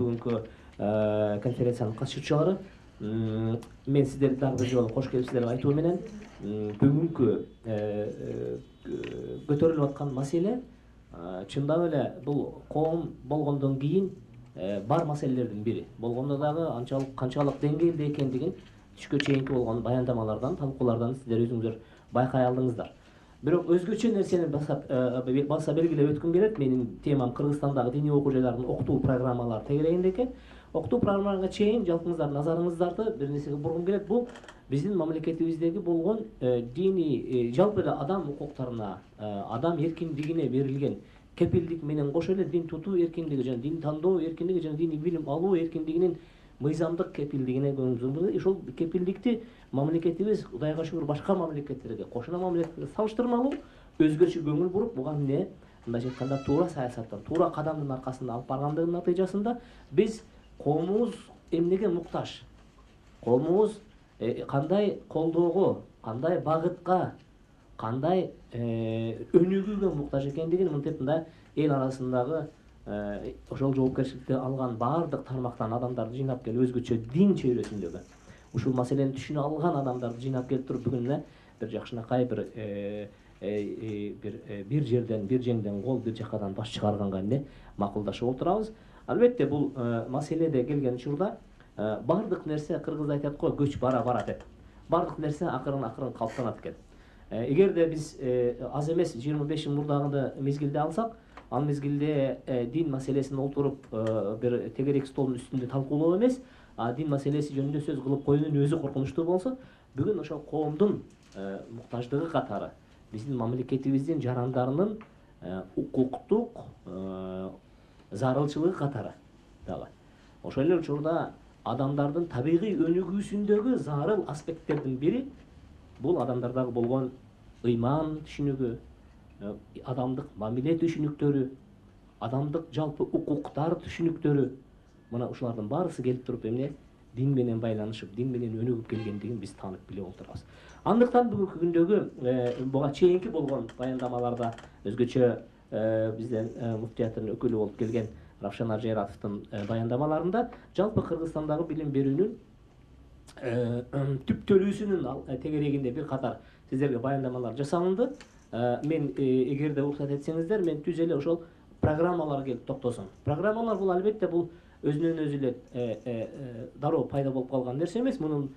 бүгүнкү конференциянын катышуучулары. Мен сиздерди дагы бир жолу кош келипсиздер деп айтуу менен бүгүнкү көтөрүлүп аткан маселе чындап эле бул коом болгондон кийин бар маселелердин бири. Болгондо дагы канчалык деңгээлде экендигин түшкө чейинки болгон баяндамалардан, талкуулардан сиздер өзүңүздөр байкай алдыңыздар. Бирок өзгөчө нерсени баса белгилеп өткүм келет. Менин темам Кыргызстандагы диний окуу жайлардын окутуу программалары тегерегинде экен. Окутуу программаларына чейин жалпыңыздардын назарыңыздарды бир нерсеге бургум келет. Бул биздин мамлекетибиздеги болгон диний жалпы эле адам укуктарына, адам эркиндигине берилген кепилдик менен кошо эле дин тутуу эркиндиги жана дин тандоо эркиндиги жана диний билим алуу эркиндигинин мыйзамдык кепилдигине көңүл. Ошол кепилдикти мамлекетибиз Кудайга шүгүр башка мамлекеттерге, кошуна мамлекеттерге салыштырмалуу өзгөчө көңүл буруп, буга эмне мындайча айтканда туура саясаттан, туура кадамдын аркасында алып баргандыгынын натыйжасында биз коомубуз эмнеге муктаж? Коомубуз кандай колдоого, кандай багытка, кандай өнүгүүгө муктаж экендигин мынтип мындай эл арасындагы ошол жоопкерчиликти алган баардык тармактан адамдарды жыйнап келип, өзгөчө дин чөйрөсүндөгү ушул маселени түшүнө алган адамдарды жыйнап келип туруп бүгүн бир жакшынакай бир жерден, бир жеңден кол, бир жакадан баш чыгарганга эмне макулдашып отурабыз. Албетте бул маселеде келген учурда баардык нерсе, кыргыз айтат го, көч бара деп. Баардык нерсе акырын калыптанат экен. Эгерде биз аз эмес 25 жыл мурдагы мезгилде алсак, ал мезгилде дин маселесин отуруп бир тегерек столдун үстүндө талкуулоо эмес, дин маселеси жөнүндө сөз кылып коюунун өзү коркунучтуу болсо, бүгүн ошол коомдун муктаждыгы катары биздин мамлекетибиздин жарандарынын укуктук зарылчылыгы катары дагы ошол эле учурда адамдардын табигый өнүгүүсүндөгү зарыл аспекттердин бири бул адамдардагы болгон ыйман түшүнүгү, адамдык мамиле түшүнүктөрү, адамдык жалпы укуктар түшүнүктөрү. Мына ушулардын баарысы келип туруп эмне дин менен байланышып, дин менен өнүгүп келгендигин биз таанып билип отурабыз. Андыктан бүгүнкү күндөгү буга чейинки болгон баяндамаларда өзгөчө бизден муфтияттын өкүлү болуп келген Равшан Ажератовдун баяндамаларында жалпы Кыргызстандагы билим берүүнүн түптөлүүсүнүн тегерегинде бир катар сиздерге баяндамалар жасалынды. Мен эгерде уруксат этсеңиздер, мен түз эле ошол программалар келип токтосун. Программалар бул албетте бул өзүнөн өзү эле дароо пайда болуп калган нерсе эмес. Мунун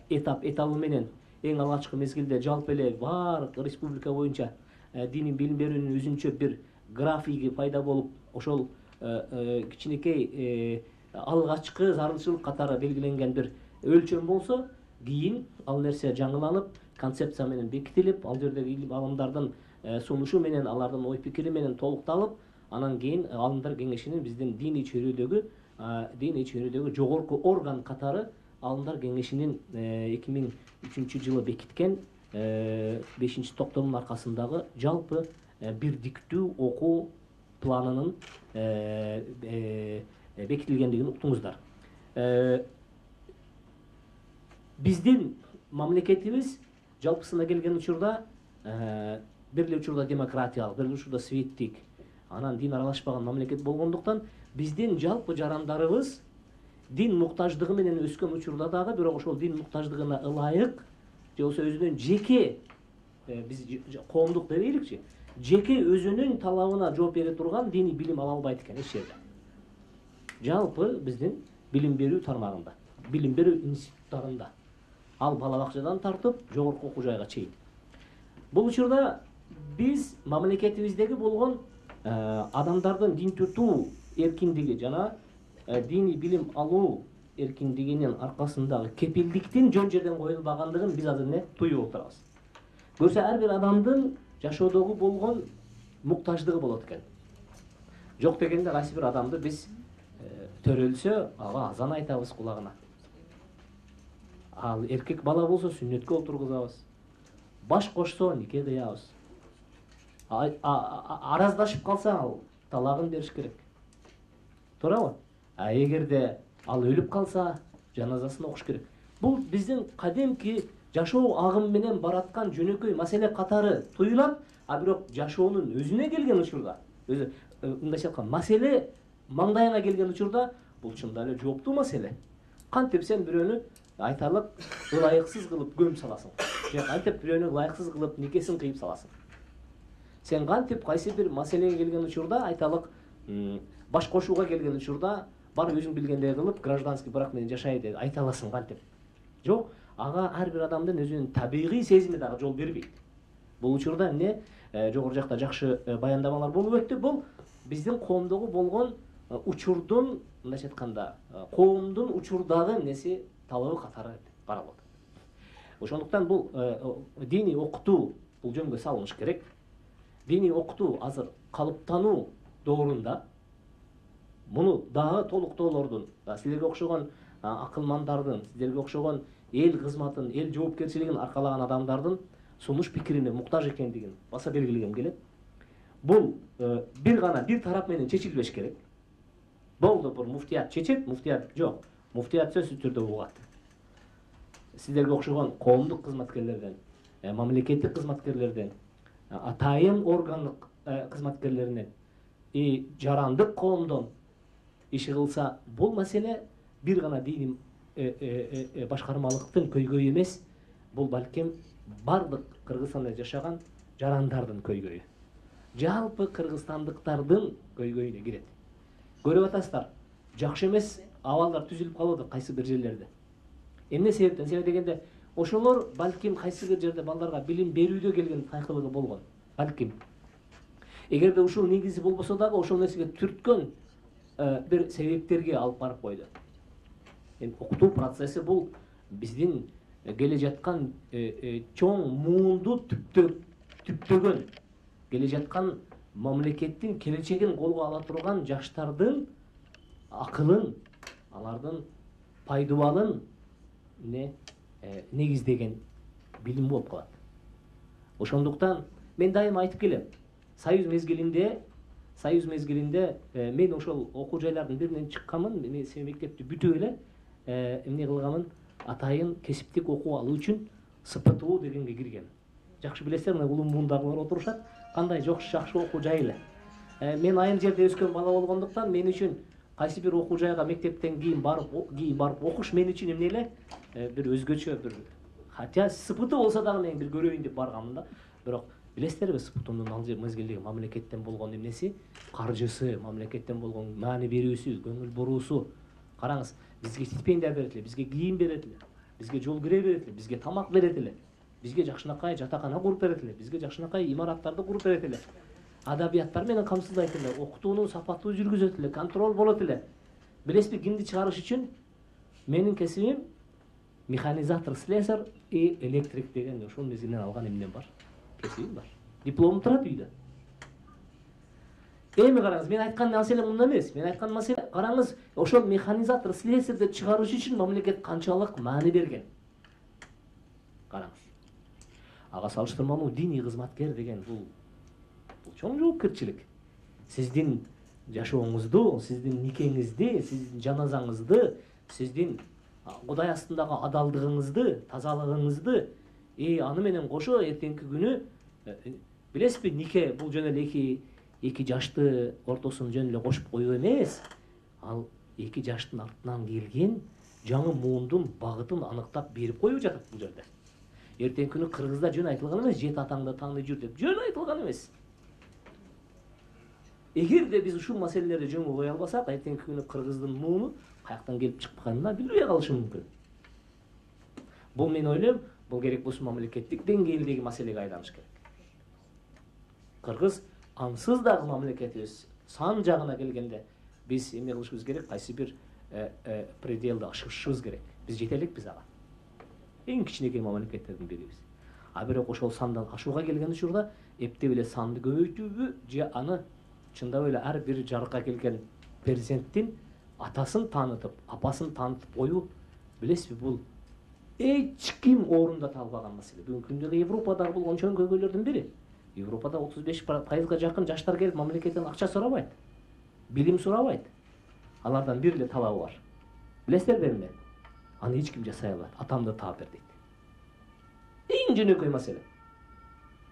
этабы менен эң алгачкы мезгилде жалпы эле баардык республика боюнча диний билим берүүнүн өзүнчө бир графиги пайда болуп, ошол кичинекей алгачкы зарылчылык катары белгиленген бир өлчөм болсо, кийин ал нерсе жаңыланып, концепция менен бекитилип, ал жердеги илим алымдардын сунушу менен, алардын ой пикири менен толукталып, анан кийин Алымдар кеңешинин биздин диний чөйрөдөгү жогорку орган катары Алымдар кеңешинин 2003 жылы бекиткен 5 токтомдун аркасындагы жалпы бирдиктүү окуу планынын бекитилгендигин уктуңуздар. Биздин мамлекетибиз жалпысына келген учурда бир эле учурда демократиялык, бир эле учурда светтик, анан дин аралашпаган мамлекет болгондуктан биздин жалпы жарандарыбыз дин муктаждыгы менен өскөн учурда дагы, бирок ошол дин муктаждыгына ылайык же болбосо өзүнүн жеке биз коомдук дебейликчи, жеке өзүнүн талабына жооп бере турган диний билим ала албайт экен эч жерде. Жалпы биздин билим берүү тармагында, билим берүү институттарында, ал бала бакчадан тартып жогорку окуу жайга чейин. Бул учурда биз мамлекетибиздеги болгон адамдардын дин тутуу эркиндиги жана диний билим алуу эркиндигинин аркасындагы кепилдиктин жөн жерден коюлбагандыгын биз азыр эмне туюп отурабыз. Көрсө ар бир адамдын жашоодогу болгон муктаждыгы болот экен. Жок дегенде кайсы бир адамды биз төрөлсө, ага азан айтабыз кулагына. Ал эркек бала болсо сүннөткө отургузабыз. Баш кошсо нике кыябыз. Араздашып калса ал талагын бериш керек. Туурабы? Эгерде ал өлүп калса, жаназасын окуш керек. Бул биздин кадимки жашоо агымы менен бараткан жөнөкөй маселе катары туюлат, бирок жашоонун өзүнө келген учурда, мындайча айтканда, маселе маңдайыңа келген учурда, бул чында эле жооптуу маселе. Кантип сен бирөөнү айтарлык ылайыксыз кылып көмүп саласың, же кантип бирөөнү ылайыксыз кылып никесин кыйып саласың? Сен кантип кайсы бир маселеге келген учурда айтарлык баш кошууга келген учурда бар өзүң билгендей кылып гражданский брак менен жашайт деп айта аласың кантип? Жок, ага ар бир адамдын өзүнүн табигый сезими дагы жол бербейт. Бул учурда эмне жогору жакта жакшы баяндамалар болуп өттү. Бул биздин коомдогу болгон учурдун, мындайча айтканда, коомдун учурдагы эмеси талабы катары каралат. Ошондуктан бул диний окутуу бул жөнгө салыныш керек. Диний окутуу азыр калыптануу доорунда муну дагы толуктоолордун, силерге окшогон акылмандардын, силерге окшогон эл кызматын, эл жоопкерчилигин аркалаган адамдардын сунуш пикирине муктаж экендигин баса белгилегем келет. Бул бир гана бир тарап менен чечилбеш керек. Болду, бир муфтият чечет, муфтият жок. Муфтият сөзсүз түрдө угат. Силерге окшогон коомдук кызматкерлерден, мамлекеттик кызматкерлерден, атайын органдык кызматкерлеринен, жарандык коомдон иши кылса, бул маселе бир гана диний башкармалыктын көйгөйү эмес, бул балким бардык Кыргызстанда жашаган жарандардын көйгөйү. Жалпы кыргызстандыктардын көйгөйүнө кирет. Көрүп атасыздар, жакшы эмес абалдар түзүлүп калды кайсы бир жерлерде. Эмне себептен? Себеп дегенде, ошолор балким кайсы бир жерде балдарга билим берүүдө келген тайкылыгы болгон. Балким. Эгерде ушул негизи болбосо дагы ошол нерсеге түрткөн бир себептерге алып барып койду. Эми окутуу процесси бул биздин келе жаткан чоң муунду түптөгөн, келе жаткан мамлекеттин келечегин колго ала турган жаштардын акылын, алардын пайдубалын негиздеген билим болуп калат. Ошондуктан мен дайыма айтып келем, Союз мезгилинде мен ошол окуу жайлардын биринен чыкканмын, мен мектепти бүтүп эле эмне кылганмын, атайын кесиптик окуу алуу үчүн СПТУ дегенге киргем. Жакшы билесиздер, мына улум муундагылар отурушат, кандай жакшы окуу жай эле. Мен айыл жерде өскөн бала болгондуктан мен үчүн кайсы бир окуу жайга мектептен кийин барып окуш мен үчүн эмне эле бир өзгөчө бир, хотя СПТУ болсо дагы мен бир көрөйүн деп барганмын да. Бирок билесиздерби, СПТУнун ал мезгилдеги мамлекеттен болгон эмнеси, каржысы, мамлекеттен болгон маани берүүсү, көңүл буруусу. Караңыз, бизге стипендия берет эле, бизге кийим берет эле, бизге жол кире берет эле, бизге тамак берет эле, бизге жакшынакай жатакана куруп берет эле, бизге жакшынакай имараттарды куруп берет эле, адабияттар менен камсыздайт эле, окутуунун сапаттуу жүргүзөт эле, контроль болот эле. Билесизби, кимди чыгарыш үчүн? Менин кесибим механизатор, слесарь и электрик деген ошол мезгилден алган эмнем бар. Кесибим бар. Дипломум турат үйдө. Эми караңыз, мен айткан маселе мында эмес. Мен айткан маселе, караңыз, ошол механизатор, слесарьды чыгарыш үчүн мамлекет канчалык маани берген. Караңыз. Ага салыштырмалуу диний кызматкер деген бул чоң жоопкерчилик. Сиздин жашооңузду, сиздин никеңизди, сиздин жаназаңызды, сиздин Кудай астындагы адалдыгыңызды, тазалыгыңызды, аны менен кошо эртеңки күнү билесизби, нике бул жөн эле эки жашты ортосун жөн эле кошуп коюу эмес. Ал эки жаштын артынан келген жаңы муундун багытын аныктап берип коюп жатат бул жерде. Эртеңки күнү кыргызда жөн айтылган эмес, жет атаңды таңдай жүр деп жөн айтылган эмес. Эгерде биз ушул маселелерди жөнгө кое албасак, эртеңки күнү кыргыздын мууну каяктан келип чыкканын билбей калышы мүмкүн. Бул мен ойлойм, бул керек болсо мамлекеттик деңгээлдеги маселеге айланыш керек. Кыргыз ансыз дагы мамлекетибиз сан жагына келгенде биз эмне кылышыбыз керек, кайсы бир пределди ашышыбыз керек. Биз жете элекпиз ага. Эң кичинекей мамлекеттердин бирибиз. А бирок ошол сандан ашууга келген учурда эптеп эле санды көбөйтүүбү же аны чындап эле ар бир жарыкка келген перзенттин атасын таанытып, апасын таанытып коюу, билесизби, бул эч ким орундата албаган маселе. Бүгүнкү күндө Европадагы болгон чоң көйгөйлөрдүн бири. Европада 35% жакын жаштар келип мамлекеттен акча сурабайт, билим сурабайт. Алардан бир эле талабы бар. Билесиздерби эмне? Аны эч ким жасай албайт. Атамды таап бер дейт. Эң жөнөкөй маселе.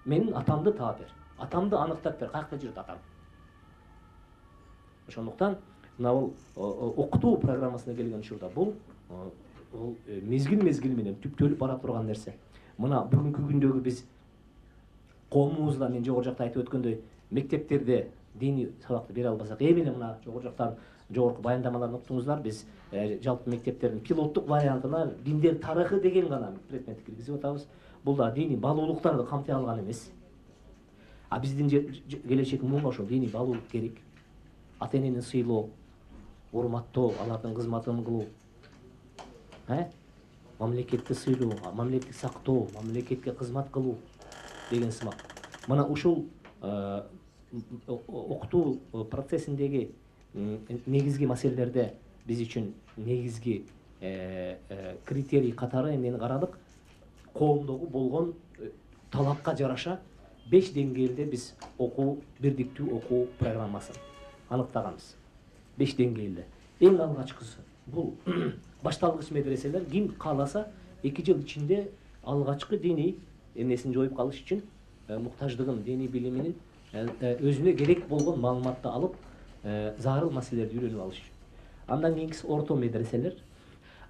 Менин атамды таап бер. Атамды аныктап бер. Каякта жүрөт атам? Ошондуктан мына бул окутуу программасына келген учурда бул мезгил менен түптөлүп бара турган нерсе. Мына бүгүнкү күндөгү биз коомубузда мен жогору жакта айтып өткөндөй мектептерде диний сабакты бере албасак, эмне мына жогору жактан жогорку баяндамаларды уктуңуздар. Биз жалпы мектептердин пилоттук вариантына диндер тарыхы деген гана предмет киргизип атабыз. Бул да диний баалуулуктарды камтый алган эмес. А биздин келечек муңга ошол диний баалуулук керек. Ата энени сыйлоо, урматтоо, алардын кызматын кылуу, мамлекетти сыйлоо, мамлекетти сактоо, мамлекетке кызмат кылуу деген сымак. Мына ушул окутуу процессиндеги негизги маселелерде биз үчүн негизги критерий катары эмнени карадык? Коомдогу болгон талапка жараша 5 деңгээлде биз окуу, бирдиктүү окуу программасын аныктаганбыз. 5 деңгээлде. Эң алгачкысы бул башталгыч медреселер. Ким кааласа 2 жыл ичинде алгачкы диний эмнесин жоюп калыш үчүн муктаждыгын, диний билиминин өзүнө керек болгон маалыматты алып, зарыл маселелерди үйрөнүп алыш үчүн. Андан кийинкиси орто медреселер.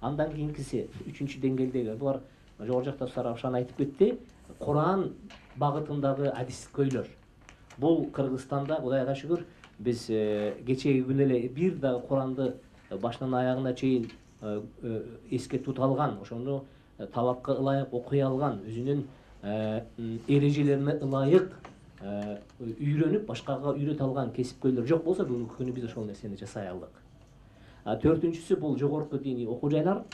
Андан кийинкиси 3-чү деңгээлдеги булар жогору жакта Сарапшан айтып кетти. Куран багытындагы адискөйлөр. Бул Кыргызстанда Кудайга шүгүр биз кечеги күнү эле бир да Куранды башынан аягына чейин эске тута алган, ошону талапка ылайык окуй алган, өзүнүн эрежелерине ылайык үйрөнүп, башкага үйрөтө алган кесипкөйлөр жок болсо, бүгүнкү күнү биз ошол нерсени жасай алдык. 4-үнчүсү бул жогорку диний окуу жайлар.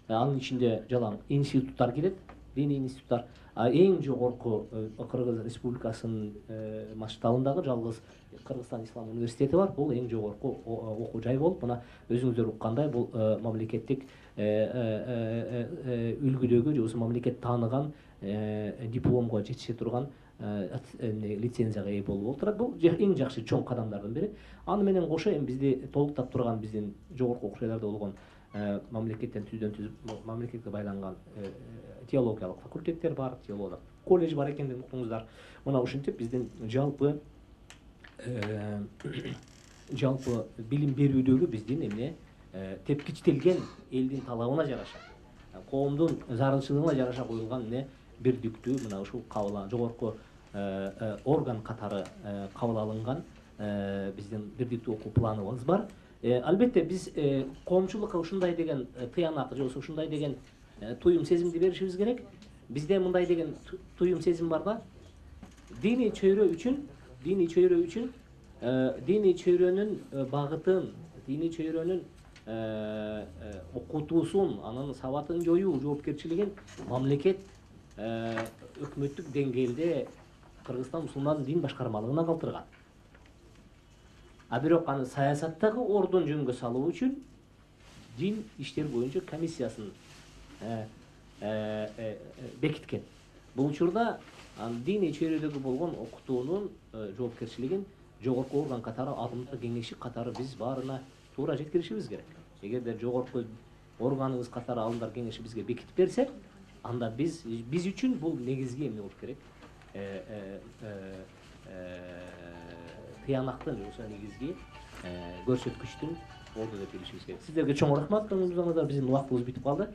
Анын ичинде жалаң институттар кирет, диний институттар. Эң жогорку Кыргыз Республикасынын масштабындагы жалгыз Кыргызстан Ислам университети бар. Бул эң жогорку окуу жай болуп, мына өзүңүздөр уккандай, бул мамлекеттик үлгүдөгү же болбосо мамлекет тааныган дипломго жетише турган лицензияга ээ болуп отурат. Бул эң жакшы чоң кадамдардын бири. Аны менен кошо эми бизди толуктап турган биздин жогорку окуу жайларда болгон мамлекеттен түздөн-түз мамлекетке байланган теологиялык факультеттер бар, теологиялык колледж бар экендигин уктуңуздар. Мына ушинтип биздин жалпы билим берүүдөгү биздин эмне тепкичтелген элдин талабына жараша, коомдун зарылчылыгына жараша коюлган эмне бирдиктүү мына ушул жогорку орган катары кабыл алынган биздин бирдиктүү окуу планыбыз бар. Албетте биз коомчулукка ушундай деген тыянак же болбосо ушундай деген туюм сезимди беришибиз керек. Бизде мындай деген туюм сезим бар да. Диний чөйрө үчүн диний чөйрөнүн багытын, диний чөйрөнүн окутуусун, анын сабатын жоюу жоопкерчилигин мамлекет өкмөттүк деңгээлде Кыргызстан мусулман дин башкармалыгына калтырган. А бирок аны саясаттагы ордун жөнгө салуу үчүн дин иштер боюнча комиссиясын бекиткен. Бул учурда диний чөйрөдөгү болгон окутуунун жоопкерчилигин жогорку орган катары, адымдар кеңеши катары биз баарына туура жеткиришибиз керек. Эгерде жогорку органыбыз катары адымдар кеңеши бизге бекитип берсе, анда биз үчүн бул негизги эмне болуш керек? Тыянактын же болбосо негизги көрсөткүчтүн орду деп билишибиз керек. Сиздерге чоң рахмат. Биздин убактыбыз бүтүп калды.